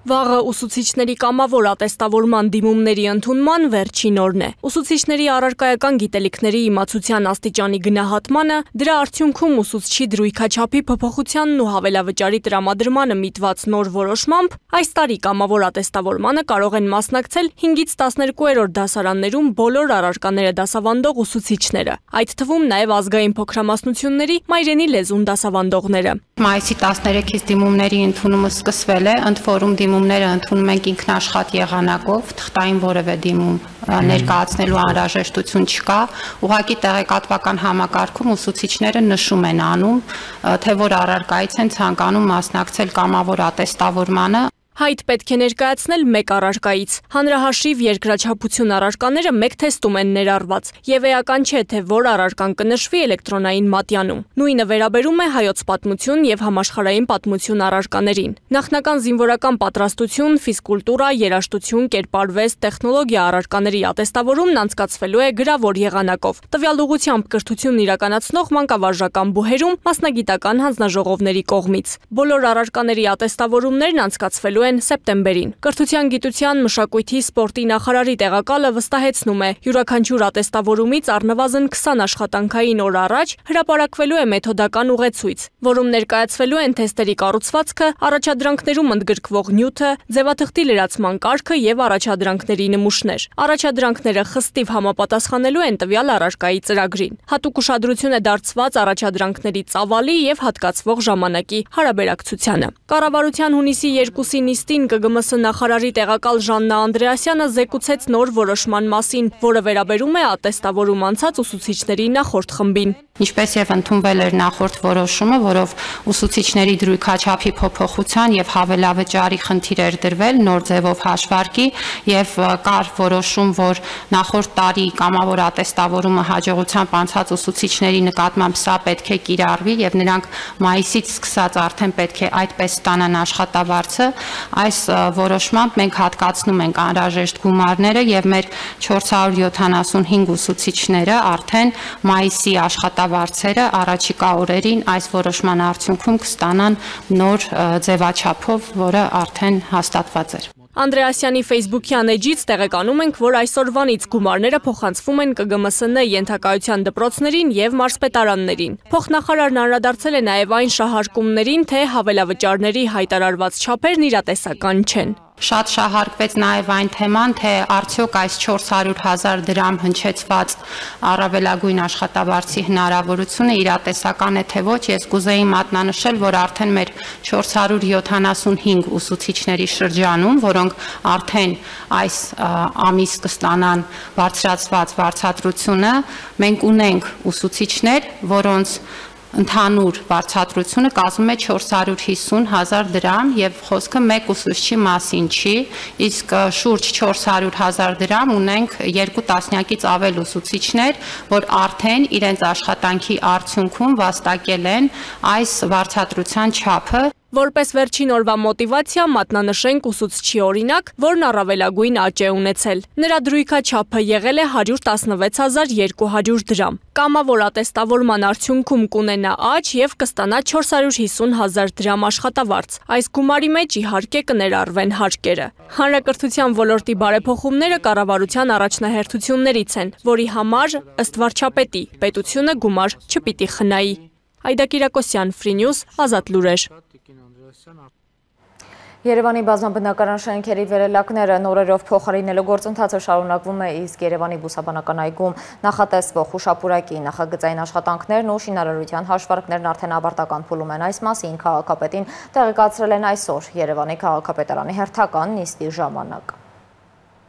Վաղը ուսուցիչների կամավոր ատեստավորման դիմումների ընդունման վերջին օրն է։ Ուսուցիչների առարկայական գիտելիքների իմացության աստիճանի գնահատմանը, դրա արդյունքում ուսուցչի դրույքաչափի փոփոխությանն ու հավելավճարի տրամադրմանը միտված նոր որոշմամբ, այս տարի կամավոր ատեստավորմանը կարող են մասնակցել հինգից տասներկուերորդ դասարաններում բոլոր առարկաները դասավանդող ուսուցիչները, այդ թվում նաև ազգային փոքրամասնությունների մայրենի լեզուն դասավանդողները։ Մայիսի տասներեքից դիմումների ընդունումը սկսվել է, ընդ որում դիմումները ընդունում ենք ինքնաշխատ եղանակով, թղթային որևէ դիմում ներկայացնելու անհրաժեշտություն չկա, ուղղակի տեղեկատվական համակարգում ուսուցիչները նշում են անում, թե որ առարկայից են ցանկանում մասնակցել կամավոր ատեստավորմանը։ Հայտ պետք է ներկայացնել մեկ առարկայից։ Հանրահաշիվ երկրաչափություն առարկաները մեկ թեստում են ներառված, եւ էական չէ, թե որ առարկան կնշվի էլեկտրոնային մատյանում։ Նույնը վերաբերում է հայոց պատմություն եւ համաշխարհային պատմություն առարկաներին։ Նախնական զինվորական պատրաստություն, ֆիզկուլտուրա, երաժշտություն, կերպարվեստ, տեխնոլոգիա առարկաների ատեստավորումն անցկացվելու է գրավոր եղանակով։ Տվյալ ուղղությամբ կրթությունն իրականացնող մանկավարժական բուհերում մասնագիտական հանձնաժողովների կողմից։ Բոլոր առարկաների ատեստավորումներն անցկացվելու են սեպտեմբերին։ Կրթության, գիտության, մշակույթի, սպորտի նախարարի տեղակալը վստահեցնում է, յուրաքանչյուր ատեստավորումից առնվազն քսան աշխատանքային օր առաջ հրապարակվելու է մեթոդական ուղեցույց, որում ներկայացվելու են թեստերի կառուցվածքը, առաջադրանքներում ընդգրկվող նյութը, ձևաթղթի լրացման կարգը եւ առաջադրանքների նմուշներ։ Առաջադրանքները խստիվ համապատասխանելու են տվյալ առարկայի ծրագրին։ Հատուկ ուշադրություն է դարձված առաջադրանքների ծավալի եւ հատկացվող ժամանակի հարաբերակցությանը։ Կառավարության հունիսի երկուսի նիստին Կ Գ M S նախարարի տեղակալ Ժաննա Անդրեասյանը զեկուցեց նոր որոշման մասին, որը վերաբերում է ատեստավորում անցած ուսուցիչների նախորդ խմբին։ Ինչպես եւ ընդունվել էր նախորդ որոշումը, որով ուսուցիչների դրույքաչափի փոփոխության եւ հավելավճարի խնդիր էր դրվել նոր ձևով հաշվարկի եւ կար որոշում, որ նախորդ տարի կամավոր ատեստավորումը հաջողությամբ անցած ուսուցիչների նկատմամբ սա պետք է կիրառվի եւ նրանք մայիսից սկսած արդեն պետք է այդպես ստանան աշխատավարձը։ Այս որոշմամբ մենք հատկացնում ենք անհրաժեշտ գումարները եւ մեր չորս հարյուր յոթանասունհինգ ուսուցիչները արդեն մայիսի աշխատավարձերը առաջիկա օրերին այս որոշման արդյունքում կստանան նոր ձևաչափով, որը արդեն հաստատված էր։ Անդրեասյանի Facebook-յան էջից տեղեկանում ենք, որ այսօրվանից գումարները փոխանցվում են Կ Գ M S N ենթակայության դպրոցներին եւ մարզպետարաններին։ Փոխնախարարն անդրադարձել է նաեւ այն շահարկումներին, թե հավելավճարների հայտարարված չափերն իրատեսական չեն։ Շատ շահարկվեց նաև այն թեման, թե արդյոք այս չորս հարյուր հազար դրամ հնչեցված առավելագույն աշխատավարձի հնարավորությունը իրատեսական է թե ոչ, ես կուզեի մատնանշել, որ արդեն մեր չորս հարյուր յոթանասունհինգ ուսուցիչների շրջանում, որոնք արդեն այս ամիս կստանան բարձրացված վարձատրությունը, մենք ունենք ուսուցիչներ, որոնց ընդհանուր վարձատրությունը կազմում է չորս հարյուր հիսուն հազար դրամ եւ խոսքը մեկ ուսուցչի մասին չի, իսկ շուրջ չորս հարյուր հազար դրամ ունենք երկու տասնյակից ավել ուսուցիչներ, որ արդեն իրենց աշխատանքի արդյունքում վաստակել են այս վարձատրության չափը։ Որպես վերջին օրվա մոտիվացիա մատնանշենք ուսուցչի օրինակ, որն առավելագույն աճ է ունեցել։ Նրա դրույքաչափը եղել է հարյուր տասնվեց հազար երկու հարյուր դրամ։ Կամավոր ատեստավորման արդյունքում կունենա աճ եւ կստանա չորս հարյուր հիսուն հազար դրամ աշխատավարձ։ Այս գումարի մեջ իհարկե կներառվեն հարկերը։ Հանրակրթության ոլորտի բարեփոխումները կառավարության առաջնահերթություններից են, որի համար ըստ վարչապետի պետությունը գումար չպիտի խնայի։ Այդա Կիրակոսյան, Free News, Ազատ լուրեր։ Երևանի բազմաբնակարան շենքերի վերելակները նորերով փոխարինելու գործընթացը շարունակվում է, իսկ Երևանի բուսաբանական այգում նախատեսվող հուշապուրակի նախագծային աշխատանքներն ու շինարարության հաշվարկներն արդեն ավարտական փուլում են։ Այս մասին քաղաքապետին տեղեկացրել են այսօր Երևանի քաղաքապետարանի հերթական նիստի ժամանակ։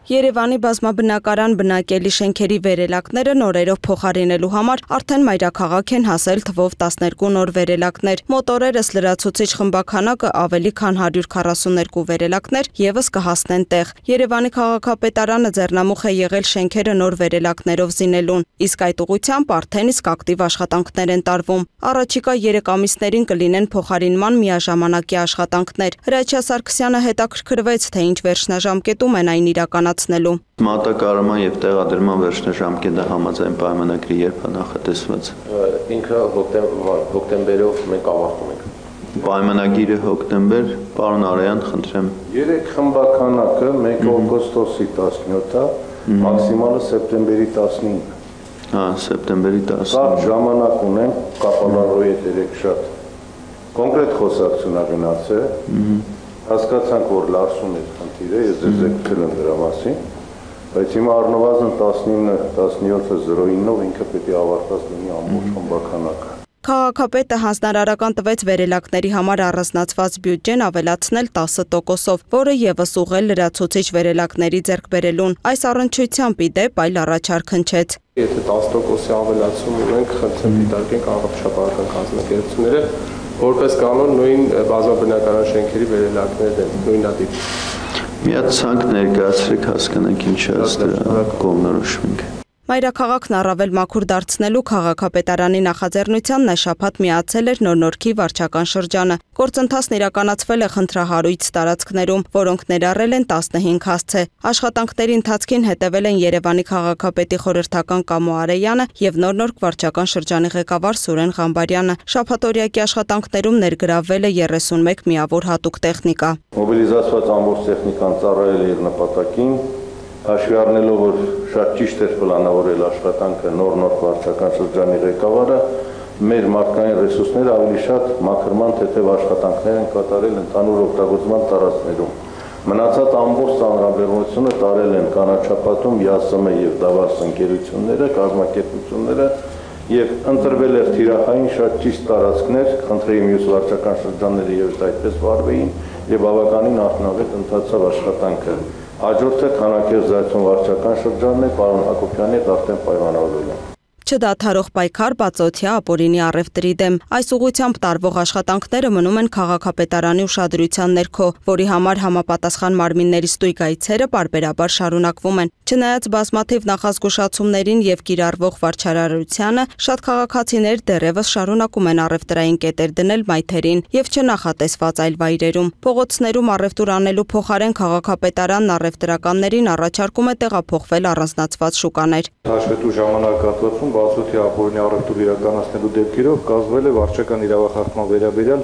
Երևանի բազմաբնակարան բնակելի շենքերի վերելակները նորերով փոխարինելու համար արդեն մայրաքաղաք են հասել թվով տասներկու նոր վերելակներ։ Մոտորերս լրացուցիչ խմբաքանակը ավելի քան հարյուր քառասուններկու վերելակներ ևս կհասնեն տեղ։ Երևանի քաղաքապետարանը ձեռնամուխ է եղել շենքերը նոր վերելակներով զինելուն, իսկ այդ ուղղությամբ արդեն իսկ ակտիվ աշխատանքներ են տարվում։ Առաջիկա երեք ամիսներին կլինեն փոխարինման միաժամանակի աշխատանքներ։ Հրաչյա Սարգսյանը հետաքրքրվեց, թե ինչ վերջնաժամկետում են այն իրականացնել Մատակարարման եւ տեղադրման վերջնաժամկետը համաձայն պայմանագրի երբ է նախատեսված։ Ինքը հոկտեմբերով մենք ավարտում ենք։ Պայմանագիրը հոկտեմբեր, պարոն Արայան, խնդրեմ։ Երեք խմբականակը մեկ օգոստոսի տասնյոթը, մաքսիմալը սեպտեմբերի տասնինը։ Հա, սեպտեմբերի տասնինը։ Շատ ժամանակ ունենք կապալարոյի հետ երեք շատ կոնկրետ խոսակցություն ագնացել։ Հասկացանք, որ լարսում է խնդիրը, ես ձեզ եկել եմ դրա մասին, բայց հիմա առնվազն տասնինը տասնյոթը զրո ինով ինքը պետք է ավարտած լինի ամբողջ խմբականակը։ Քաղաքապետը հանձնարարական տվեց վերելակների համար առանձնացված բյուջեն ավելացնել տասը տոկոսով, որը ևս ուղղել լրացուցիչ վերելակների ձեռքբերելուն։ Այս առնչությամբ ի դեպ այլ առաջարկ հնչեց։ Եթե տասը տոկոսի ավելացում ունենք, խնդրեմ դիտարկենք առողջապահական կազմակերպությունները, որպես կանոն նույն բազմաբնակարան շենքերի վերելակներն են նույնատիպ։ Մի հատ ցանկ ներկայացրեք, հասկանանք ինչ է դրա կողմնորոշվենք։ Մայրաքաղաքն առավել մաքուր դարձնելու քաղաքապետարանի նախաձեռնությանն այս շաբաթ միացել էր Նոր-Նորքի վարչական շրջանը։ Գործընթացն իրականացվել է խնդրահարույց տարածքներում, որոնք ներառել են տասնհինգ հասցե։ Աշխատանքների ընթացքին հետևել են Երևանի քաղաքապետի խորհրդական Կամո Արեյանը եւ Նոր-Նորք վարչական շրջանի ղեկավար Սուրեն Ղամբարյանը։ Շաբաթօրյակի աշխատանքներում ներգրավվել է երեսունմեկ միավոր հատուկ տեխնիկա։ Մոբիլիզացված ամբողջ տեխնիկան ծառայել է իր նպատակին, հաշվի առնելով, որ շատ ճիշտ էր պլանավորել աշխատանքը Նոր-Նորք վարչական շրջանի ղեկավարը, մեր մարդկային ռեսուրսները ավելի շատ մաքրման թեթև աշխատանքներ են կատարել ընդհանուր օգտագործման տարածքներում։ Մնացած ամբողջ ծանրաբեռնությունը տարել են կանաչապատում ԵԱՍՄ եւ Դավաս ընկերությունները, կազմակերպությունները եւ ընտրվել էր թիրախային շատ ճիշտ տարածքներ, խնդրեի մյուս վարչական շրջանները եւս այդպես վարվեին եւ բավականին արդյունավետ ընթացավ աշխատանքը։ Հաջորդը քանակեզրացում վարչական շրջանն է, պարոն Հակոբյանի հետ արդեն պայմանավորվել են։ Չդադարող պայքար բացօթյա ապօրինի առևտրի դեմ։ Այս ուղղությամբ տարվող աշխատանքները մնում են քաղաքապետարանի ուշադրության ներքո, որի համար համապատասխան մարմինների ստույգ այցերը պարբերաբար շարունակվում են։ Չնայած բազմաթիվ նախազգուշացումներին եւ կիրառվող վարչարարությանը, շատ քաղաքացիներ դեռևս շարունակում են առևտրային կետեր դնել մայթերին եւ չնախատեսված այլ վայրերում։ Փողոցներում առևտուր անելու փոխարեն քաղաքապետարանն առևտրականներին առաջարկում է տեղափոխվել առանձնացված շուկաներ։ Հաշվետու ժամանակահատվածում բացօթյա ապօրինի առևտուր իրականացնելու դեպքերով կազմվել է վարչական իրավախախտման վերաբերյալ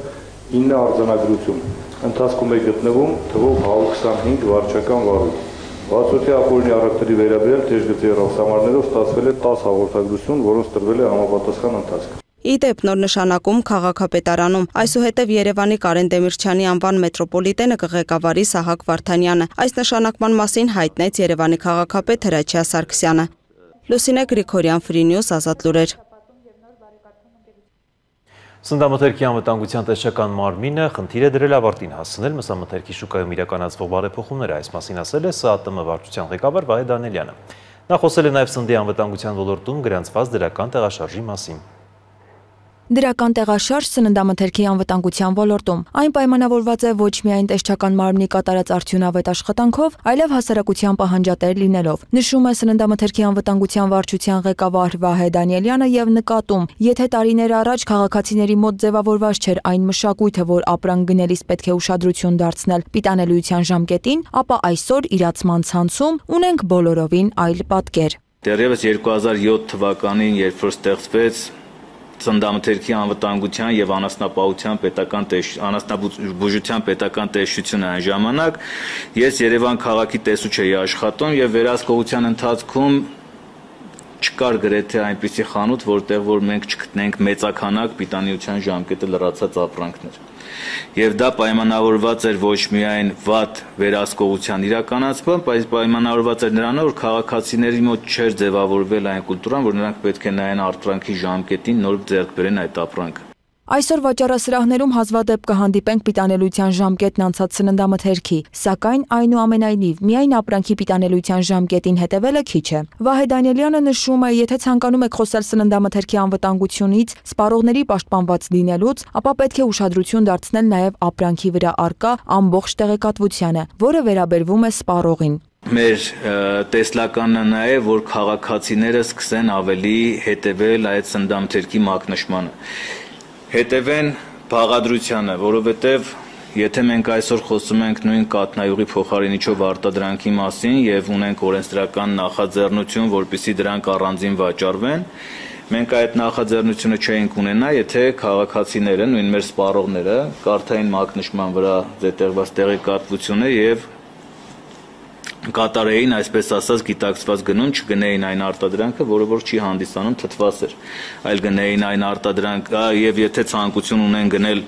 ինը արձանագրություն։ Ընթացքում է գտնվում թվով հարյուր քսանհինգ վարչական վարույթ։ Բացօթյա ապօրինի առևտրի վերաբերյալ թեժգծի ռախսամարներով ստացվել է տասը հաղորդագրություն, որոնց տրվել է համապատասխան ընթացք։ Ի դեպ նոր նշանակում քաղաքապետարանում այսուհետև Երևանի Կարեն Դեմիրճյանի անվան մետրոպոլիտենը կղեկավարի Սահակ Վարդանյանը։ Այս նշանակման մասին հայտնեց Երևանի քաղաքապետ Հրաչյա Սարգսյանը։ Լուսինե Գրիգորյան, Free News, Ազատ լուրեր։ Սննդամթերքի անվտանգության տեսչական մարմինը խնդիր է դրել ավարտին հասցնել մսամթերքի շուկայում իրականացվող բարեփոխումները, այս մասին ասել է ՍԱՏՄ վարչության ղեկավար Վահե Դանիելյանը։ Նա խոսել է նաև սննդի անվտանգության ոլորտում գրանցված դրական տեղաշարժի մասին։ Դրական տեղաշարժ սննդամթերքի անվտանգության ոլորտում։ Այն պայմանավորված է ոչ միայն տեսչական մարմնի կատարած արդյունավետ աշխատանքով, այլև հասարակության պահանջատեր լինելով։ Նշում է սննդամթերքի անվտանգության վարչության ղեկավար Վահե Դանիելյանը եւ նկատում, եթե տարիներ առաջ քաղաքացիների մոտ ձևավորված չէր այն մշակույթը, որ ապրանք գնելիս պետք է ուշադրություն դարձնել պիտանելիության ժամկետին, ապա այսօր իրացման ցանցում ունենք բոլորովին այլ պատկեր։ Դեռևս երկու հազար յոթ թվականին, երբ որ ստեղծվեց Սննդամթերքի անվտանգության եւ անասնապահության պետական անասնաբուժության պետական տեսչությունը այն ժամանակ ես Երևան քաղաքի տեսուչ էի աշխատում եւ վերահսկողության ընթացքում չկար գրեթե այնպիսի խանութ, որտեղ որ մենք չգտնենք մեծականակ պիտանիության ժամկետը լրացած ապրանքներ։ Եվ դա պայմանավորված էր ոչ միայն վատ վերահսկողության իրականացմամբ, բայց պայմանավորված էր նրանով, որ քաղաքացիների մոտ չէր ձևավորվել այն կուլտուրան, որ նրանք պետք է նայեն արտրանքի ժամկետին, նոր ձեռք բերեն այդ ապրանքը։ Այսօր վաճառասրահներում հազվադեպ կհանդիպենք պիտանելիության ժամկետն անցած սննդամթերքի, սակայն այնուամենայնիվ միայն ապրանքի պիտանելիության ժամկետին հետևելը քիչ է։ Վահե Դանիելյանը նշում է, եթե ցանկանում եք խոսել սննդամթերքի անվտանգությունից, սպառողների պաշտպանված լինելուց, ապա պետք է ուշադրություն դարձնել նաև ապրանքի վրա առկա ամբողջ տեղեկատվությանը, որը վերաբերվում է սպառողին։ Մեր տեսլականն նա է, որ քաղաքացիները սկսեն ավելի հետևել այդ սննդամթերքի մակնշմանը։ Հետևեն բաղադրությանը, որովհետև եթե մենք այսօր խոսում ենք նույն կաթնայուղի փոխարինիչով արտադրանքի մասին եւ ունենք օրենսդրական նախաձեռնություն, որպեսզի դրանք առանձին վաճառվեն, մենք այդ նախաձեռնությունը չէինք ունենա, եթե քաղաքացիները, նույն մեր սպառողները, կարդային մակնշման վրա զետեղված տեղեկատվությունը եւ կատարեին, այսպես ասած, գիտակցված գնում, չգնեին այն արտադրանքը, որը որ չի հանդիսանում թթվասեր, այլ գնեին այն արտադրանքը, եւ եթե ցանկություն ունեն գնել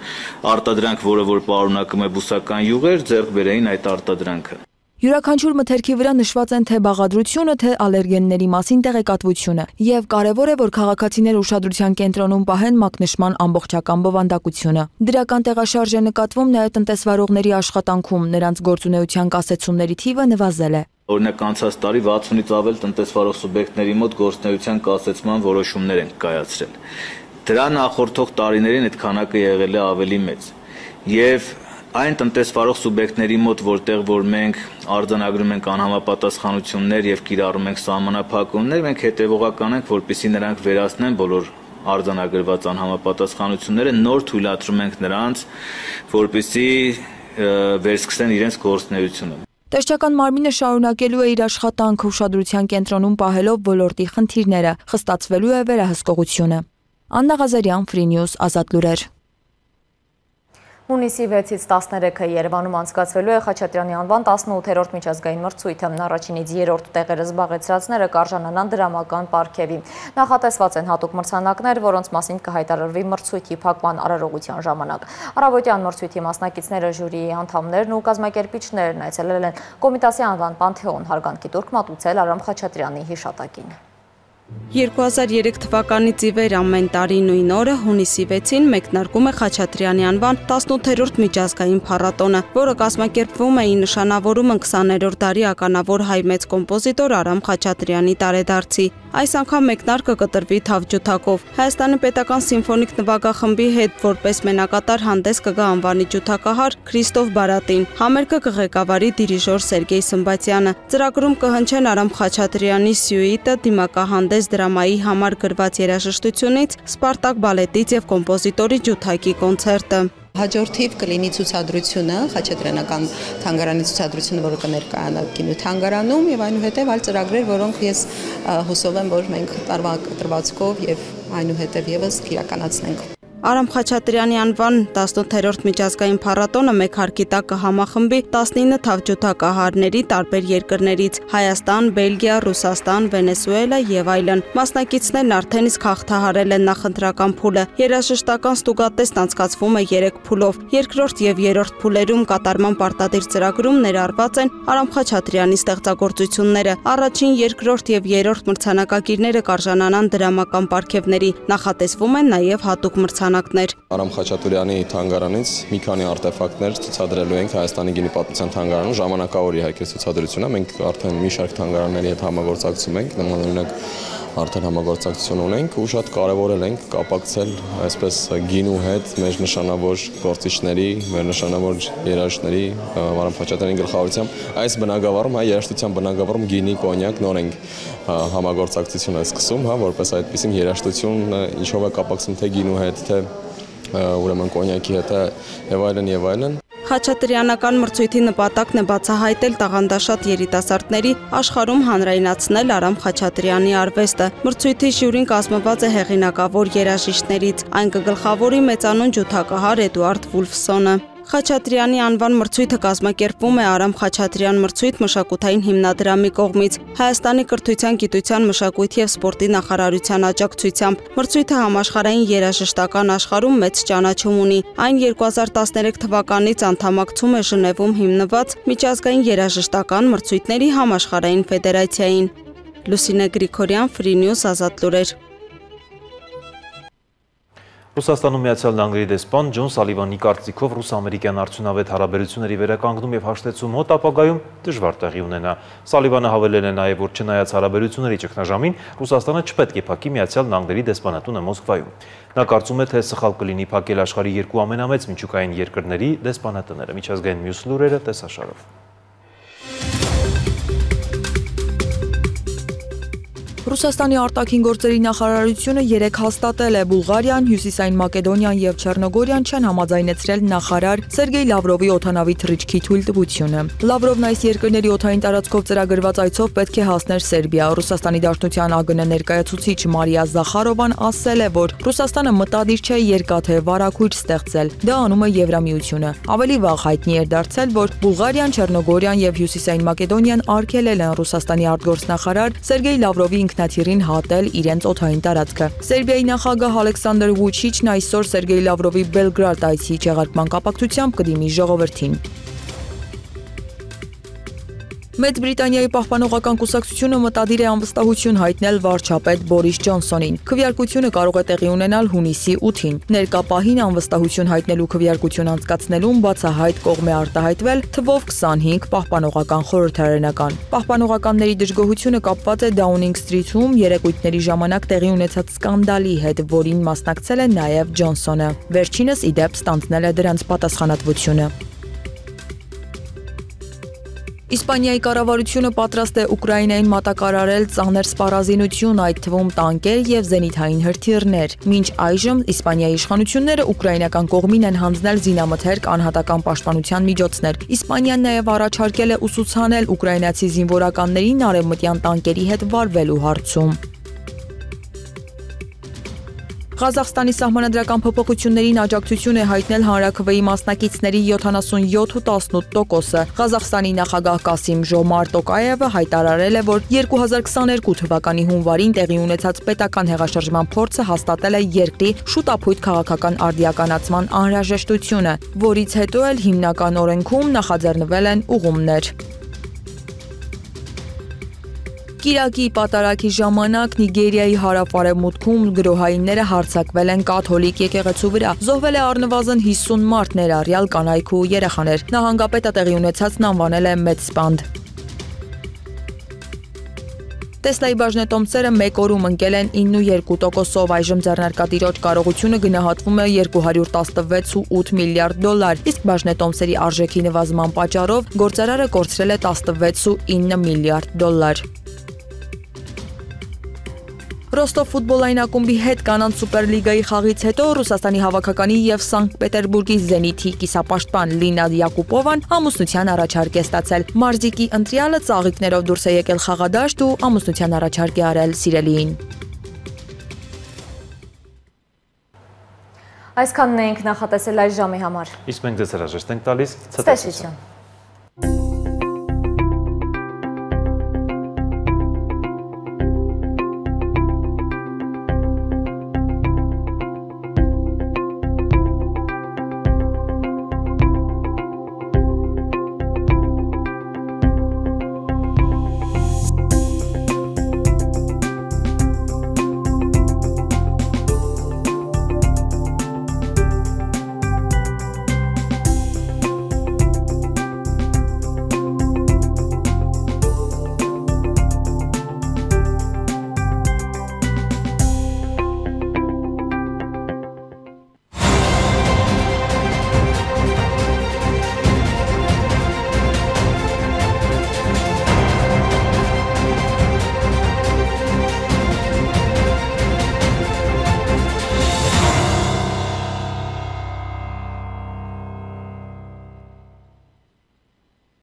արտադրանք, որը որ պարունակում է բուսական յուղեր, ձեռք բերեին այդ արտադրանքը։ Յուրաքանչյուր մթերքի վրա նշված են թե բաղադրությունը, թե ալերգենների մասին տեղեկատվությունը, եւ կարեւոր է, որ քաղաքացիները ուշադրության կենտրոնում պահեն մակնշման ամբողջական բովանդակությունը։ Դրական տեղաշարժ է նկատվում նաեւ տնտեսվարողների աշխատանքում, նրանց գործունեության կասեցումների թիվը նվազել է։ Օրինակ անցած տարի վաթսունից ավել տնտեսվարող սուբյեկտների մոտ գործունեության կասեցման որոշումներ են կայացրել։ Դրա նախորդող տարիներին այդ քանակը եղել է ավելի մեծ։ Եվ այն տնտեսվարող սուբյեկտների մոտ, որտեղ որ մենք արձանագրում ենք անհամապատասխանություններ եւ կիրառում ենք սահմանափակումներ, մենք հետեւողական ենք, որպեսզի նրանք վերացնեն բոլոր արձանագրված անհամապատասխանությունները, նոր թույլատրում ենք նրանց, որպեսզի վերսկսեն իրենց գործունեությունը։ Տեսչական մարմինը շարունակելու է իր աշխատանքը ուշադրության կենտրոնում պահելով ոլորտի խնդիրները, խստացվելու է վերահսկողությունը։ Աննա Ղազարյան, Free News, Ազատ լուրեր։ Հունիսի վեցից տասներեքը Երևանում անցկացվելու է Խաչատրյանի անվան տասնութերորդ միջազգային մրցույթը, առաջինից երրորդ տեղերը զբաղեցրածները կարժանանան դրամական պարգևի։ Նախատեսված են հատուկ մրցանակներ, որոնց մասին կհայտարարվի մրցույթի փակման արարողության ժամանակ։ Առավոտյան մրցույթի մասնակիցները, ժյուրիի անդամներն ու կազմակերպիչներն այցելել են Կոմիտասի անվան Պանթեոն հարգանքի տուրք մատուցել Արամ Խաչատրյանի հիշատակին։ երկու հազար երեք թվականից ի վեր ամեն տարի նույն օրը հունիսի վեցին մեկնարկում է Խաչատրյանի անվան տասնութերորդ միջազգային փառատոնը, որը կազմակերպվում է ի նշանավորումը քսաներորդ դարի ականավոր հայ մեծ կոմպոզիտոր Արամ Խաչատրյանի տարեդարձի։ Այս անգամ մեկնարկը կտրվի թավջութակով։ Հայաստանի պետական սիմֆոնիկ նվագախմբի հետ որպես մենակատար հանդես կգա անվանի ջութակահար Քրիստոֆ Բարատին։ Համերգը կղեկավարի դիրիժոր Սերգեյ Սմբատյանը։ Ծրագրում կհնչեն Արամ Խաչատրյանի սյուիտը, դիմակահանդես դրամայի համար գրված երաժշտությունից, Սպարտակ բալետից եւ կոմպոզիտորի ջութակի կոնցերտը։ Հաջորդիվ կլինի ցուցադրությունը, Խաչատրյանական թանգարանի ցուցադրությունը, որը կներկայանա կինոթանգարանում եւ այնուհետեւ այլ ծրագրեր, որոնք ես հուսով եմ, որ մենք տարվա կտրվածքով եւ այնուհետեւ եւս կիրականացնենք։ Արամ Խաչատրյանի անվան տասնութերորդ միջազգային փառատոնը մեկ հարկի տակ կհամախմբի տասնինը թավջութակահարների տարբեր երկրներից՝ Հայաստան, Բելգիա, Ռուսաստան, Վենեսուելա եւ այլն։ Մասնակիցներն արդեն իսկ հաղթահարել են նախընտրական փուլը։ Երաժշտական ստուգատեսն անցկացվում է երեք փուլով։ Երկրորդ եւ երրորդ փուլերում կատարման պարտադիր ծրագրում ներառված են Արամ Խաչատրյանի ստեղծագործությունները։ Առաջին, երկրորդ եւ երրորդ մրցանակակիրները կարժանանան դրամական պարգևների։ Նախատեսվում են նաեւ հատուկ մրցանակ Արամ Խաչատրյանի թանգարանից մի քանի արտեֆակտներ ցուցադրելու ենք Հայաստանի գինիպատմության թանգարանում, ժամանակավոր իհարկե ցուցադրությունն է, մենք արդեն մի շարք թանգարանների հետ համագործակցում ենք, նմանօրինակ արդեն համագործակցություն ունենք ու շատ կարևորել ենք կապակցել այսպես գինու հետ մեր նշանավոր գործիչների, մեր նշանավոր երաժիշտների Արամ Խաչատրյանի գլխավորությամբ այս բնագավառում, հայ երաժշտության բնագավառում գինի, կոնյակ նոր ենք համագործակցություն է սկսում, հա, որպես այդպիսին երաժշտություն ինչով է կապակցում թե գինու հետ, թե ուրեմն կոնյակի հետ եւ այլն եւ այլն։ Խաչատրյանական մրցույթի նպատակն է բացահայտել տաղանդաշատ երիտասարդների աշխարհում հանրայնացնել Արամ Խաչատրյանի արվեստը։ Մրցույթի ժյուրին կազմված է հեղինակավոր երաժիշտներից, այն կգլխավորի մեծանուն ջութակահար Էդուարդ Վուլֆսոնը։ Խաչատրյանի անվան մրցույթը կազմակերպվում է Արամ Խաչատրյան մրցույթ մշակութային հիմնադրամի կողմից Հայաստանի կրթության, գիտության, մշակույթի եւ սպորտի նախարարության աջակցությամբ։ Մրցույթը համաշխարհային երաժշտական աշխարհում մեծ ճանաչում ունի։ Այն երկու հազար տասներեք թվականից անդամակցում է Ժնևում հիմնված միջազգային երաժշտական մրցույթների համաշխարհային ֆեդերացիային։ Լուսինե Գրիգորյան, Free News, Ազատ լուրեր։ Ռուսաստանում Միացյալ Նահանգների դեսպան Ջոն Սալիվանի կարծիքով ռուս-ամերիկյան արդյունավետ հարաբերությունների վերականգնում եւ հաշտեցում մոտ ապագայում դժվար տեղի ունենա։ Սալիվանը հավելել է նաեւ, որ չնայած հարաբերությունների ճգնաժամին, Ռուսաստանը չպետք է փակի Միացյալ Նահանգների դեսպանատունը Մոսկվայում։ Նա կարծում է, թե սխալ կլինի փակել աշխարհի երկու ամենամեծ միջուկային երկրների դեսպանատները։ Միջազգային մյուս լուրերը տեսաշարով։ Ռուսաստանի արտաքին գործերի նախարարությունը երեկ հաստատել է Բուլղարիան, Հյուսիսային Մակեդոնիան եւ Չեռնոգորիան չեն համաձայնեցրել նախարար Սերգեյ Լավրովի օդանավի թռիչքի թույլտվությունը։ Լավրովն այս երկրների օդային տարածքով ծրագրված այցով պետք է հասներ Սերբիա։ Ռուսաստանի Դաշնության ԱԳՆ ներկայացուցիչ Մարիա Զախարովան ասել է, որ Ռուսաստանը մտադիր չէ երկաթե վարակույր ստեղծել։ Դա անում է Եվրամիությունը։ Ավելի վաղ հայտնի էր դարձել, որ Բուլղարիան, Չեռնոգորիան եւ Հյուսիսային Մակեդոնիան արգելել են Ռուսաստանի արտգործնախարար Սերգեյ Լավրովի ինքնաթիռին հատել իրենց օդային տարածքը։ Սերբիայի նախագահ Ալեքսանդր Վուչիչն այսօր Սերգեյ Լավրովի Բելգրադ այցի չեղարկման կապակցությամբ կդիմի ժողովրդին։ Մեծ Բրիտանիայի պահպանողական կուսակցությունը մտադիր է անվստահություն հայտնել վարչապետ Բորիս Ջոնսոնին։ Քվեարկությունը կարող է տեղի ունենալ հունիսի ութին։ Ներկա պահին անվստահություն հայտնելու քվեարկություն անցկացնելուն բացահայտ կողմ է արտահայտվել թվով քսանհինգ պահպանողական խորհրդարանական։ Պահպանողականների դժգոհությունը կապված է Դաունինգ Սթրիթում երեկույթների ժամանակ տեղի ունեցած սկանդալի հետ, որին մասնակցել է նաև Ջոնսոնը։ Վերջինս ի դեպ ստանձնել է դրանց պատասխանատվությունը։ Իսպանիայի կառավարությունը պատրաստ է Ուկրաինային մատակարարել ծանր սպառազինություն, այդ թվում տանկեր եւ զենիթային հրթիռներ։ Մինչ այժմ Իսպանիայի իշխանությունները ուկրաինական կողմին են հանձնել զինամթերք անհատական պաշտպանության միջոցներ։ Իսպանիան նաեւ առաջարկել է ուսուցանել ուկրաինացի զինվորականներին արևմտյան տանկերի հետ վարվելու հարցում։ Ղազախստանի սահմանադրական փոփոխություններին աջակցություն է հայտնել հանրաքվեի մասնակիցների յոթանասունյոթ ու տասնութ տոկոսը։ Ղազախստանի նախագահ Կասիմ Ժոմար Տոկաևը հայտարարել է, որ երկու հազար քսաներկու թվականի հունվարին տեղի ունեցած պետական հեղաշրջման փորձը հաստատել է երկրի շուտափույթ քաղաքական արդիականացման անհրաժեշտությունը, որից հետո էլ հիմնական օրենքում նախաձեռնվել են ուղումներ։ Կիրակի պատարագի ժամանակ Նիգերիայի հարավ-արևմուտքում գրոհայինները հարձակվել են կաթոլիկ եկեղեցու վրա։ Զոհվել է առնվազն հիսուն մարդ, ներառյալ կանայք ու երեխաներ։ Նահանգապետը տեղի ունեցածն անվանել է մեծ սպանդ։ Տեսլայի բաժնետոմսերը մեկ օրում ընկել են իննուերկու տոկոսով, այժմ ձեռնարկատիրոջ կարողությունը գնահատվում է երկու հարյուր տասնվեց ու ութ միլիարդ դոլար, իսկ բաժնետոմսերի արժեքի նվազման պատճառով գործարարը կորցրել է տասնվեց ու ինը միլիարդ դոլար։ Ռոստով ֆուտբոլային ակումբի հետ կանանց սուպերլիգայի խաղից հետո Ռուսաստանի հավաքականի եւ Սանկտ Պետերբուրգի Զենիթի կիսապաշտպան Լինա Յակուպովան ամուսնության առաջարկ է ստացել։ Մարզիկի ընտրյալը ծաղիկներով դուրս է եկել խաղադաշտ ու ամուսնության առաջարկ է արել սիրելիին։ Այսքանն էինք նախատեսել այս ժամի համար։ Իսկ մենք ձեզ հրաժեշտ ենք տալիս։ Ցտեսություն։